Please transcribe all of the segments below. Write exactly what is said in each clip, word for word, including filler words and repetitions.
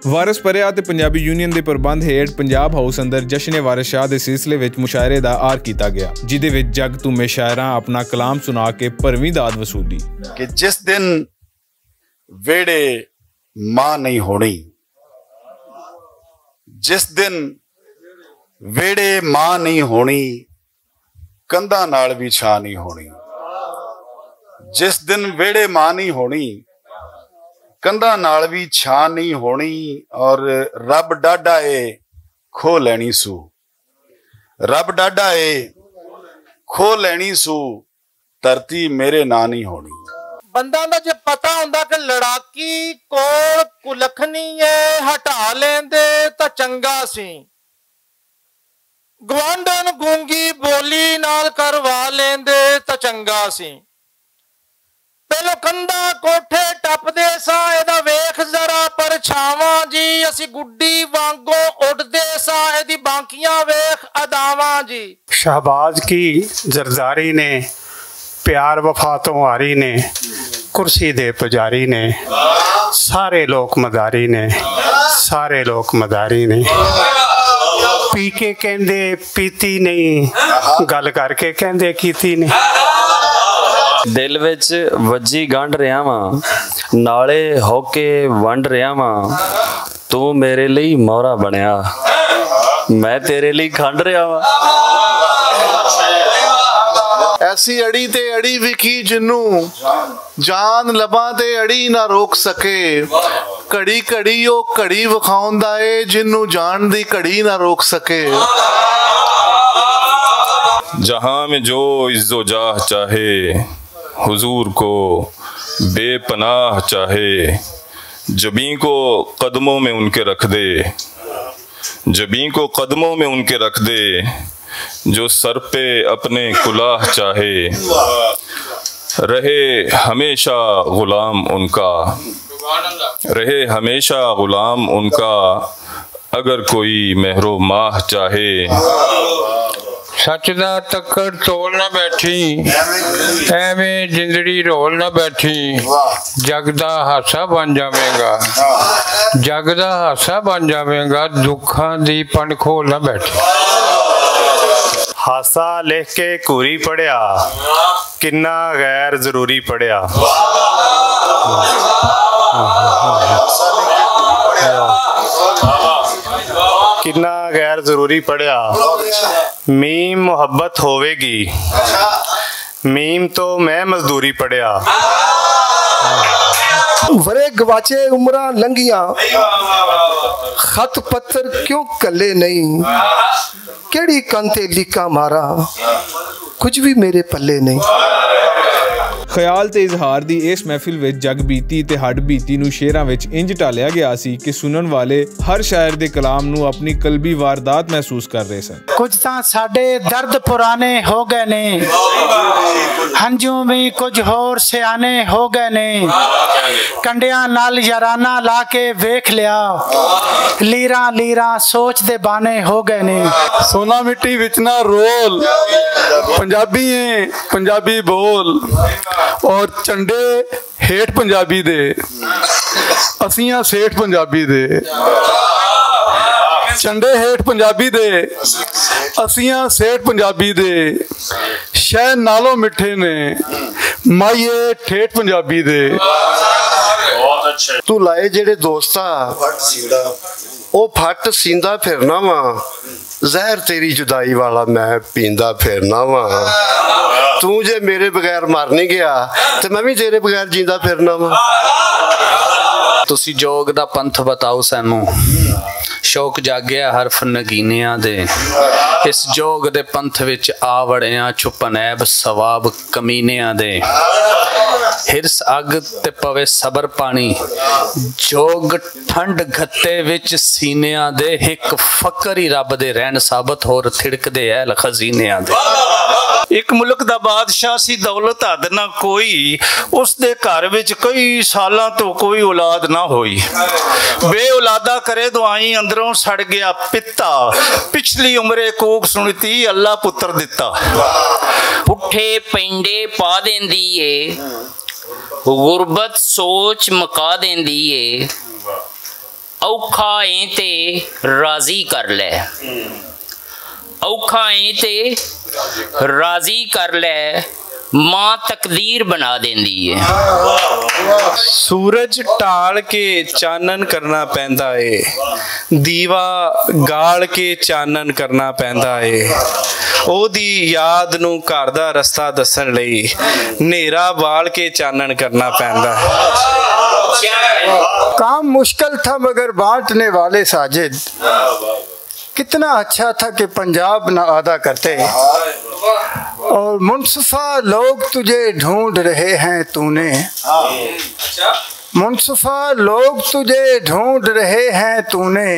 وارث پریا تے پنجابی یونین دے پربند ہیٹھ پنجاب ہاؤس اندر جشن وارث شاہ دے سلسلے وچ مشاعرے دا آر کیتا گیا، جدے وچ جگ تو میں شاعراں اپنا کلام سنا کے پرویں داد وصولی۔ کہ جس دن ویڑے ماں نہیں ہونی، جس دن ویڑے ماں نہیں ہونی، کندھاں نال بھی چھاں نہیں ہونی۔ جس دن ویڑے ماں نہیں ہونی، کندھاں نال بھی چھاں نہیں ہونی۔ اور رب ڈاڈا اے، کھو لینی سو۔ رب ڈاڈا اے، کھو لینی سو، دھرتی میرے ناں نہیں ہونی۔ بندہ دا جے پتہ ہوندا کہ لڑاکی کول کلکھنی اے، ہٹا لیندے تاں چنگا سی۔ گوانڈن گونگی بولی نال کروا لیندے تاں چنگا سی۔ پہلو کندھا کوٹھے ٹپدے ساں، ایدا ویکھ ذرا پرچھاواں جی، اسی گڈی وانگوں اڈدے ساں، ایدی بانکیاں ویکھ اداواں جی۔ شہباز کی زرداری نے، پیار وفا تو ہاری نے، کرسی دے پجاری نے، سارے لوک مداری نے، سارے لوک مداری نے۔ پی کے کہندے پیتی نہیں، گل کر کے کہندے کیتی نہیں۔ دل وچ وجی گنڈ رہیا واں، نالے ہو کے ونڈ رہیا واں۔ تو میرے لئی مورا بنیا، میں تیرے لئی کھنڈ رہیا واں۔ ایسی اڑی تے اڑی وکی جنوں جان لباں تے اڑی نہ روک سکے۔ گھڑی گھڑی او گھڑی وکھاوندا اے، جنوں جان دی گھڑی نہ روک سکے۔ جہاں میں جو عز و جاہ چاہے، حضور کو بے پناہ چاہے، جبیں کو قدموں میں ان کے رکھ دے، جبیں کو قدموں میں ان کے رکھ دے، جو سر پہ اپنے کلاه چاہے، رہے ہمیشہ غلام ان کا، رہے ہمیشہ غلام ان کا، اگر کوئی مہر و ماہ چاہے۔ سچ دا تکڑ تول نہ بیٹھی، ایویں جندڑی رول نہ بیٹھی، جگ دا ہاسا بن جاویں گا، جگ دا ہاسا بن جاویں گا، دکھاں دی پن کھول نہ بیٹھی۔ ہاسا لکھ کے گھوری پڑھیا، کنا غیر ضروری پڑھیا۔ کنا غیر ضروری پڑھیا۔ میم محبت ہووے گی، میم تو میں مزدوری پڑھیا۔ ورے گواچے عمراں لنگیاں، خط پتھر کیوں کلے نہیں؟ کیڑی کن تے لیکاں ماراں، کچھ بھی میرے پلے نہیں۔ خیال تے اظہار دی اس محفل وچ جگ بیتی تے ہڈ بیتی نوں شعراں وچ انج ڈھالیا گیا سی کہ سنن والے ہر شاعر دے کلام نوں اپنی قلبی واردات محسوس کر رہے سن۔ کچھ تاں ساڈے درد پرانے ہو گئے نے، ہنجوں وی کچھ ہور سیانے ہو گئے نے۔ کنڈیاں نال یارانہ لا کے ویکھ لیا، لیراں لیراں سوچ دے بانے ہو گئے نے۔ سونا مٹی وچ نہ رول، پنجابی ہیں، پنجابی بول۔ اور چنڈے ہیٹھ پنجابی دے، اسیاں سیٹھ پنجابی دے۔ چنڈے ہیٹھ پنجابی دے، اسیاں سیٹھ پنجابی دے۔ شہد نالوں مٹھے نے، مائیے ٹھیٹھ پنجابی دے۔ تو لائے جڑے دوستا، او پھٹ سیندا پھرنا واں۔ زہر تیری جدائی والا میں پیندا پھرنا واں۔ توں جے میرے بغیر مر نہیں گیا، تے میں بھی تیرے بغیر جیندا پھرنا واں۔ تسی جوگ دا پنتھ بتاؤ سینوں، شوق جاگیا حرف نگینیاں دے۔ اس جوگ دے پنتھ وچ آ وڑیاں، چھپن عیب ثواب کمینیاں دے۔ ہرس اگ تے پوے صبر پانی، جوگ ٹھنڈ گھتے وچ سینیاں دے، ہک فقر ہی رب دے رہن ثابت، ہور تھڑک دے اہل خزینیاں دے۔ ایک ملک دا بادشاہ سی، دولت حد نہ کوئی، اس دے گھر وچ کئی سالاں تو کوئی اولاد نہ ہوئی۔ بے اولادا کرے دعائیں، اندروں سڑ گیا پتا، پچھلی عمرے کوک سنتی، اللہ پتر دتا۔ پٹھے پینڈے پا دیندی اے، غربت سوچ مکا دیندی اے۔ اوکھا ایں تے راضی کر لے۔ اوکھا ایں تے راضی کر لے۔ ماں تقدیر بنا دیندی ہے۔ سورج ٹال کے چانن کرنا پیندا اے۔ دیوا گال کے چانن کرنا پیندا اے۔ او دی یاد نوں گھر دا رستہ دسن لئی نیرا بال کے چانن کرنا پیندا۔ کام مشکل تھا مگر بانٹنے والے ساجد، کتنا اچھا تھا کہ پنجاب نہ آدھا کرتے۔ اور منصفہ لوگ تجھے ڈھونڈ رہے ہیں تو نے، منصفہ لوگ تجھے ڈھونڈ رہے ہیں تو نے،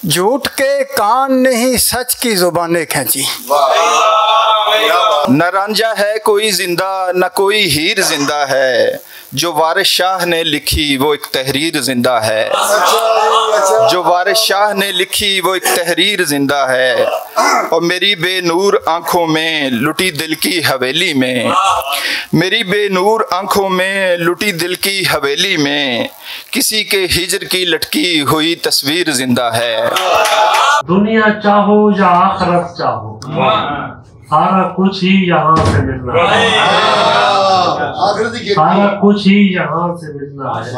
جھوٹ کے کان نہیں سچ کی زبانیں کھینچی۔ نہ رانجھا ہے کوئی زندہ، نہ کوئی ہیر زندہ ہے۔ جو وارث شاہ نے لکھی، وہ ایک تحریر زندہ ہے۔ جو وارث شاہ نے لکھی، وہ ایک تحریر زندہ ہے۔ اور میری بے نور آنکھوں میں لٹی دل کی حویلی میں، میری بے نور آنکھوں میں لٹی دل کی حویلی میں، کسی کے ہجر کی لٹکی ہوئی تصویر زندہ ہے۔ دنیا چاہو یا آخرت چاہو، سارا کچھ ہی یہاں سے ملنا ہے۔ سارا کچھ ہی یہاں سے ملنا ہے۔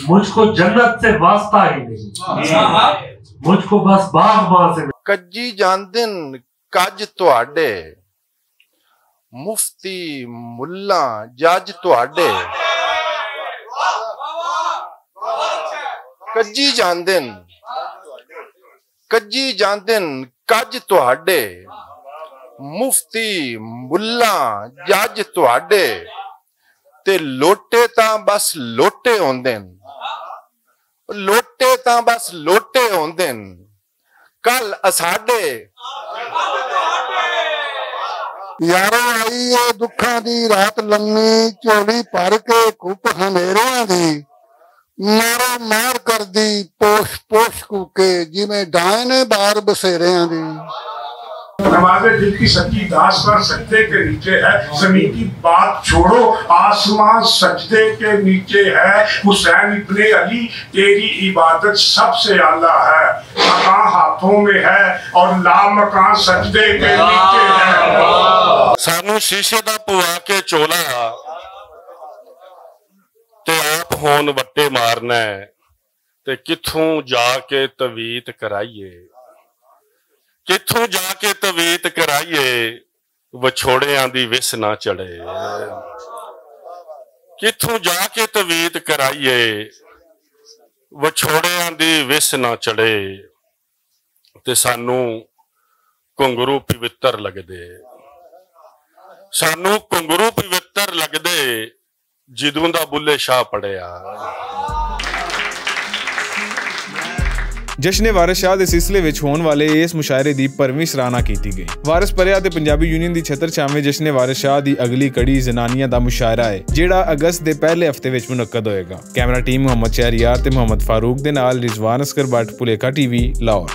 مجھ کو جنت سے واسطہ ہی نہیں، مجھ کو بس باغ وہاں سے ملنا۔ کجی جاندن کج تہاڈے، مفتی ملا جج تہاڈے۔ کجی جاندن، کجی جاندن کج تہاڈے، مفتی ملا جج تہاڈے، تے لوٹے تاں بس لوٹے ہوندے نے، لوٹے تاں بس لوٹے ہوندے نے۔ کل اساڈے۔ یارو، آئی اے دکھاں دی رات لمی، چولی پر کے کپ ہنیریاں دی، مارو مار کردی پوش پوش کوکے، جویں ڈائن بار بسیریاں دی۔ نماز دل کی سچی داستان سجدے کے نیچے ہے، زمین کی بات چھوڑو، آسمان سجدے کے نیچے ہے۔ حسین ابن علی، تیری عبادت سب سے اعلیٰ ہے۔ مکان ہاتھوں میں ہے اور لا مکان سجدے کے نیچے ہے۔ سانو شیشے دا پوا کے چولا تے آپ ہون وٹے مارنا ہے۔ تے کتھوں جا کے تویت کرائیے، کتھوں جا کے تویت کرائیے، وچھوڑیاں دی وس نہ چڑھے۔ کتھوں جا کے تویت کرائیے، وچھوڑیاں دی وس نہ چڑھے۔ تے سانوں کنگرو پوتر لگدے، سانوں کنگرو پوتر لگدے، جدوں دا بلے شاہ پڑھیا۔ جشن وارث شاہ دے سلسلے وچ ہون والے اس مشاعرے دی پرویں سراہنا کیتی گئی۔ وارث پریا تے پنجابی یونین دی چھتر چھاویں جشن وارث شاہ دی اگلی کڑی زنانیاں دا مشاعرہ ہے، جیڑا اگست دے پہلے ہفتے وچ منعقد ہوئے گا۔ کیمرہ ٹیم محمد شہریار تے محمد فاروق دے نال رضوان اصغر بٹ، پلیکا ٹی وی، لاہور۔